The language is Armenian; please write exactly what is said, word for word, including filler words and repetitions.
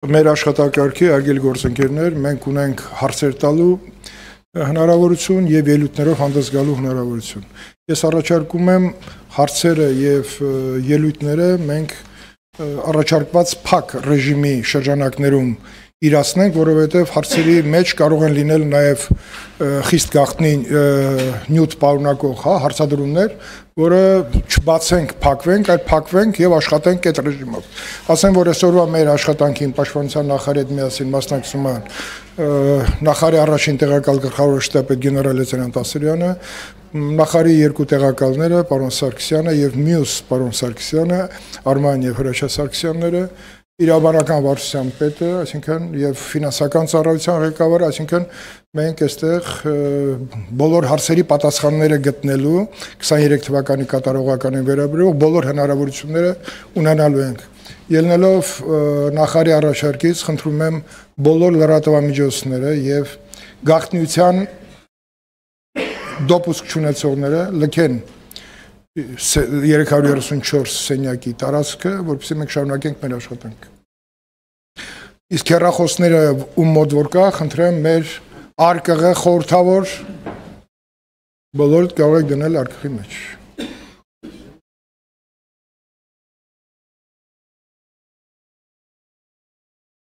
Մեր աշխատակարգի արգել գործընկերներ, մենք ունենք հարցեր տալու հնարավորություն եւ ելույթներով հանդես գալու հնարավորություն։ Ես առաջարկում եմ հարցերը եւ ելույթները մենք առաջարկված փակ ռեժիմի շրջանակներում իրացնենք, որովհետեւ հարցերի մեջ կարող են լինել նաեւ խիստ գաղտնի նյութ պարունակող, հա, հարցադրումներ, որը չբացենք, փակվենք, այլ փակվենք եւ աշխատենք այդ ռեժիմով։ Ասեմ, որ այսօրվա մեր աշխատանքին պաշտպանության նախարարի հետ միասին մասնակցում են նախարարի առաջին տեղակալ գլխավոր շտաբի գեներալ լեյտենանտ Ասրյանը, նախարարի երկու տեղակալները, պարոն Սարգսյանը եւ մյուս պարոն Սարգսյանը, Արման եւ Հրաչյա Սարգսյանները, իրավաբանական վարչության պետը, այսինքն եւ ֆինանսական ծառայության ղեկավարը, այսինքն մենք այստեղ բոլոր հարցերի պատասխանները գտնելու քսաներեք թվականի կատարողականին վերաբերող բոլոր հնարավորությունները ունենալու ենք։ Ելնելով նախարարի առաջարկից խնդրում եմ բոլոր լրատվամիջոցները եւ գաղտնիության դոպուսկ չունեցողները լքեն երեք հարյուր երեսունչորս սենյակի տարածքը, որպեսզի մենք շարունակենք մեր աշխատանքը։ Իսկ հեռախոսները ում մոտ որ կա, խնդրեմ մեր արկղը խորհրդավոր բոլորդ կարող եք դնել արկղի մեջ։